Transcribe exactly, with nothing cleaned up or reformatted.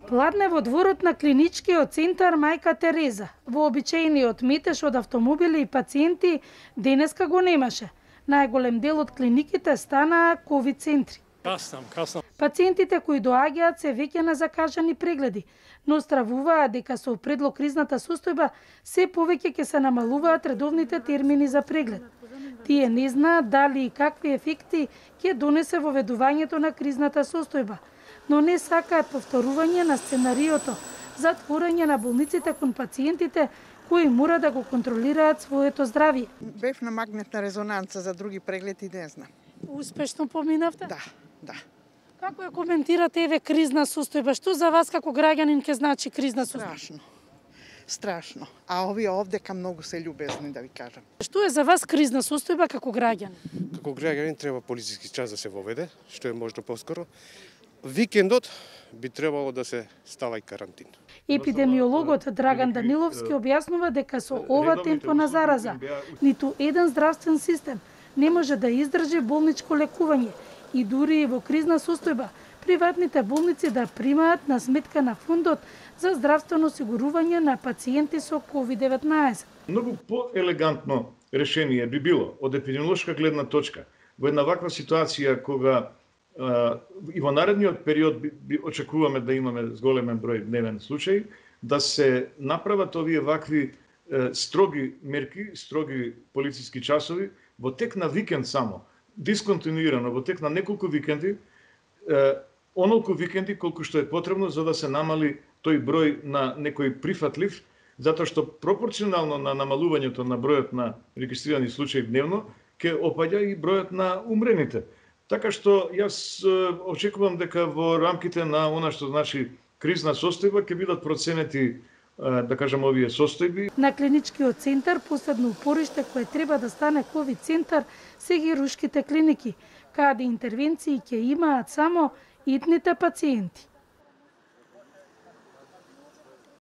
Пладне во дворот на клиничкиот центар Мајка Тереза. Вообичаениот метеж од автомобили и пациенти денеска го немаше. Најголем дел од клиниките станаа ковид центри. Каснам, каснам. Пациентите кои доаѓаат се веќе на закажани прегледи, но стравуваат дека со предлог кризната состојба се повеќе ќе се намалуваат редовните термини за преглед. Тие не знаат дали и какви ефекти ќе донесе воведувањето на кризната состојба, но не сакаат повторување на сценариото за творење на болниците кон пациентите кои мора да го контролираат своето здравје. Бев на магнетна резонанца за други прегледи, не знам. Успешно поминавте? Да, да. Како ја коментирате еве кризна состојба? Што за вас како граѓанин ќе значи кризна состојба? Страшно. Страшно. А овие овдека многу се љубезни, да ви кажам. Што е за вас кризна состојба како граѓанин? Како граѓанин треба полициски час да се воведе, што е можно поскоро. Викендот би требало да се става и карантин. Епидемиологот Драган Даниловски објаснува дека со ова темпо на зараза ниту еден здравствен систем не може да издржи болничко лекување и дури и во кризна состојба приватните болници да примаат на сметка на фондот за здравствено осигурување на пациенти со ковид деветнаесет. Многу поелегантно решение би било од епидемиолошка гледна точка во една ваква ситуација кога Uh, и во наредниот период би, би очекуваме да имаме зголемен број дневен случај, да се направат овие вакви uh, строги мерки, строги полициски часови во тек на викенд само, дисконтинуирано во тек на неколку викенди, uh, онолку викенди колку што е потребно за да се намали тој број на некој прифатлив, затоа што пропорционално на намалувањето на бројот на регистрирани случаи дневно ќе опаѓа и бројот на умрените. Така што јас очекувам дека во рамките на она што значи кризна состојба ќе бидат проценети, да кажам, овие состојби. На клиничкиот центар последно упориште кое треба да стане ковид центар се хируршките клиники, каде интервенции ќе имаат само итните пациенти.